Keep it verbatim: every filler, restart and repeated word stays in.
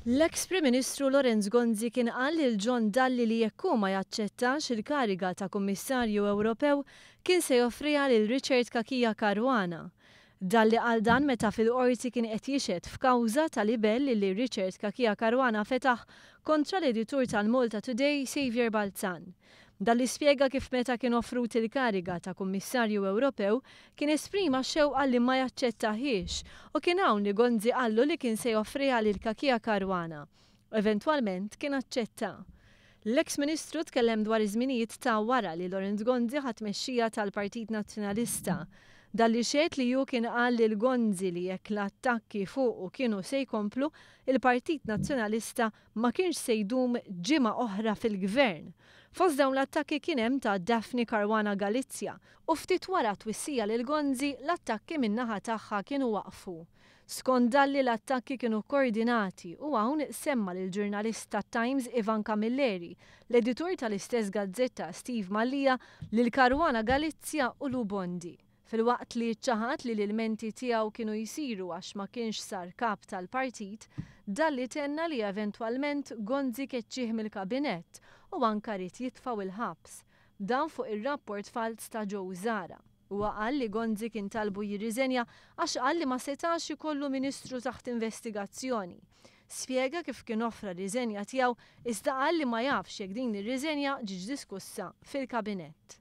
L-eks Prim Ministru Lawrence Gonzi kien qal lil John Dalli li jekk hu ma jaċċettax il-kariga ta' Kummissarju Ewropew kien se joffriha lil Richard Cachia Caruana. Dalli qal dan meta fil-qorti kien qed jixhed f'kawża ta' libell li Richard Cachia Caruana fetaħ kontra l-editur tal-Malta Today, Saviour Balzan. Dalli spjega kif meta kien offrut il-kariga ta' Kummissarju Ewropew kien esprima xewqa li ma jaċċettahiex u kien hawn li Gonzi qallu li kien se joffriha lil Cachia Caruana. Eventwalment kien aċċetta. L-eks Ministru tkellem dwar iż-żminijiet ta' wara li Lawrence Gonzi ħa tmexxija tal-Partit Nazzjonalista. Dalli xehed li hu kien qal lil Gonzi li jekk l-attakki fuqu kienu se jkomplu, il-Partit Nazzjonalista ma kienx se jdum ġimgħa oħra fil-gvern. Fost dawn l-attakki kien hemm ta' Daphne Caruana Galizia u ftit wara twissija lil Gonzi, l-attakki min-naħa tagħha kienu waqfu. Skont Dalli, l-attakki kienu koordinati u hawn semma lil ġurnalist ta' Times Ivan Camilleri, l-editur tal-istess gazzetta Steve Mallia, lil Caruana Galizia u Lou Bondi. Filwaqt li ċaħad li l-ilmenti tiegħu kienu jsiru għax ma kienx sar kap tal-partit, Dalli tenna li eventwalment Gonzi keċċih mill-kabinett u anka ried jitfgħu il-ħabs. Dan fuq ir-rapport falz ta' Joe Zahra. Huwa qal li Gonzi kien talbu jirriżenja għax qal li ma setax ikollu ministru taħt investigazzjoni. Spjega kif kien offra riżenja tiegħu, iżda qal li ma jafx jekk din ir-riżenja ġietx diskussa fil-kabinett.